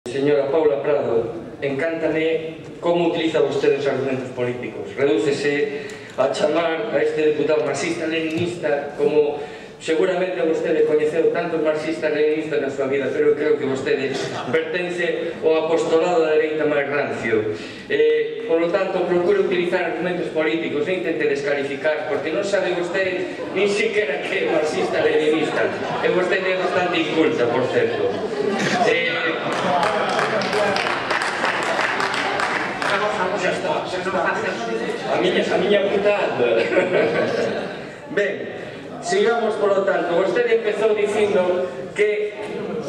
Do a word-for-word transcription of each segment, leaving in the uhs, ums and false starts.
Señora Paula Prado, encántame como utiliza vostede os argumentos políticos. Redúcese a chamar a este deputado marxista-leninista como seguramente vostede coñeceu tantos marxistas-leninistas na súa vida, pero creo que vostede pertence ao apostolado da dereita máis rancio. Eh, por lo tanto, procure utilizar argumentos políticos, non intente descalificar, porque non sabe vostede ni siquiera que é marxista-leninista. E vostede é bastante inculta, por certo. Eh, A miña, a miña putada. Ben, sigamos, por lo tanto. Vostede empezou dicindo que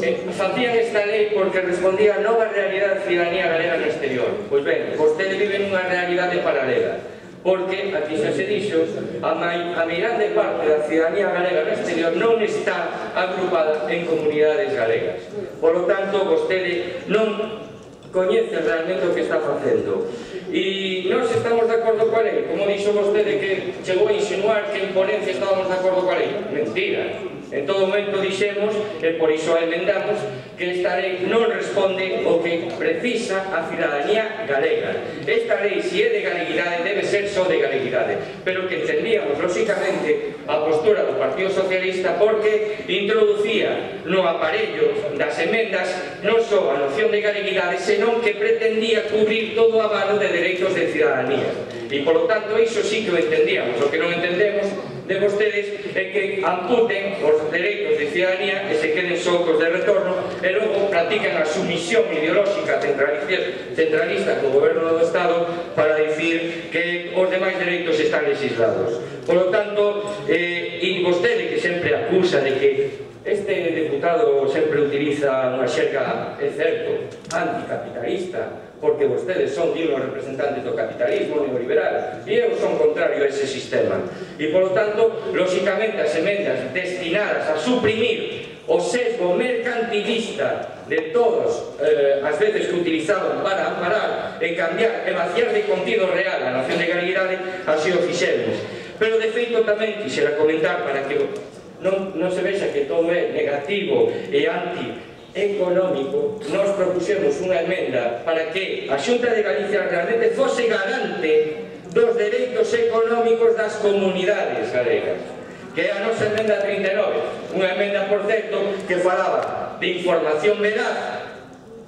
eh, facían esta lei porque respondía a nova realidade da ciudadanía galega no exterior. Pois ben, vostede vive nunha realidade paralela, porque, aquí xa se dixo, a, a meirande parte da ciudadanía galega no exterior non está agrupada en comunidades galegas. Por lo tanto, vostede non coñece realmente o que está facendo. E nós estamos de acordo coa lei, como dixo vostede que chegou a insinuar que en ponencia estábamos de acordo coa lei. Mentira. En todo momento dixemos, e por iso a emendamos, que esta lei non responde o que precisa a ciudadanía galega. Esta lei, se é de galeguidade, debe ser só de galeguidade, pero que entendíamos, lóxicamente, a postura do Partido Socialista porque introducía no aparello das emendas non só a noción de galeguidade, senón que pretendía cubrir todo o abano de dereitos de ciudadanía. E, polo tanto, iso sí que o entendíamos. O que non entendemos de vostedes é que amputen os dereitos de ciudadanía e se queden socos de retorno e logo practican a sumisión ideolóxica centralista co goberno do Estado para dicir que os demais dereitos están legislados. Por lo tanto, eh, e vostede que sempre acusa de que este deputado sempre utiliza unha xerga, é certo, anticapitalista, porque vostedes son dignos representantes do capitalismo neoliberal e eu son contrario a ese sistema. E, polo tanto, lóxicamente, as emendas destinadas a suprimir o sesgo mercantilista de todos eh, as veces que utilizaban para amparar e cambiar e vaciar de contido real a nación de galeguidade, así o fixemos. Pero, de feito, tamén quixera comentar para que non, non se vexa que todo é negativo e anti económico. Nos propuxemos unha emenda para que a Xunta de Galicia realmente fose garante dos dereitos económicos das comunidades galegas, que é a nosa emenda trinta e nove, unha emenda, por certo, que falaba de información veraz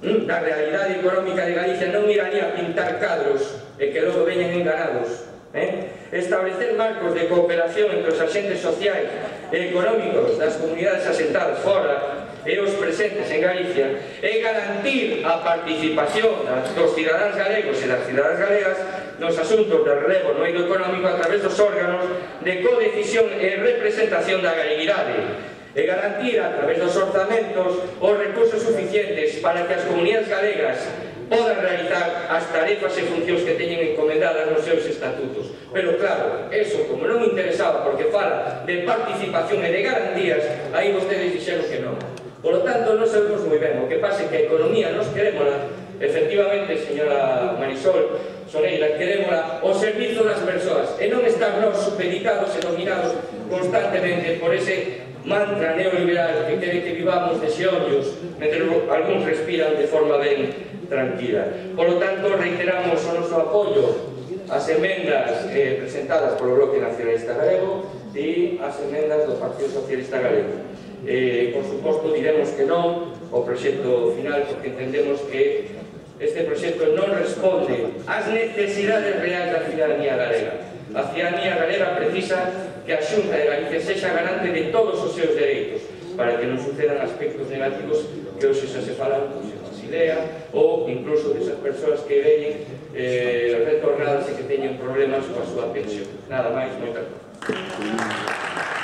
da realidade económica de Galicia, non iraría a pintar cadros e que logo veñen enganados. Eh? Establecer marcos de cooperación entre os agentes sociais e económicos das comunidades asentadas fora e os presentes en Galicia e garantir a participación dos cidadáns galegos e das cidadáns galegas nos asuntos de relevo no eido económico a través dos órganos de codecisión e representación da galeguidade e garantir a través dos orzamentos os recursos suficientes para que as comunidades galegas podan realizar as tarefas e funcións que teñen encomendadas nos seus estatutos. Pero claro, eso como non interesaba porque fala de participación e de garantías, aí vostedes dixeron que non. Por lo tanto, non sabemos moi ben. O que pasa é que a economía nos querémola, efectivamente, señora Marisol Soneira, querémola ao servizo das persoas e non estar nos supeditados e dominados constantemente por ese mantra neoliberal que quere que vivamos de xeollos mentre algúns respiran de forma ben tranquila. Por lo tanto, reiteramos o noso apoio ás emendas eh, presentadas polo Bloque Nacionalista Galego e ás emendas do Partido Socialista Galego. Eh, por suposto, diremos que non ao proxecto final porque entendemos que este proxecto non responde ás necesidades reais da ciudadanía galega. A ciudadanía galega precisa que a Xunta de Galicia sexa garante de todos os seus dereitos para que non sucedan aspectos negativos que hoxe xa se falan con Basilea ou incluso desas persoas que veñen eh, retornadas e que teñen problemas coa súa pensión. Nada máis, moitas gracias.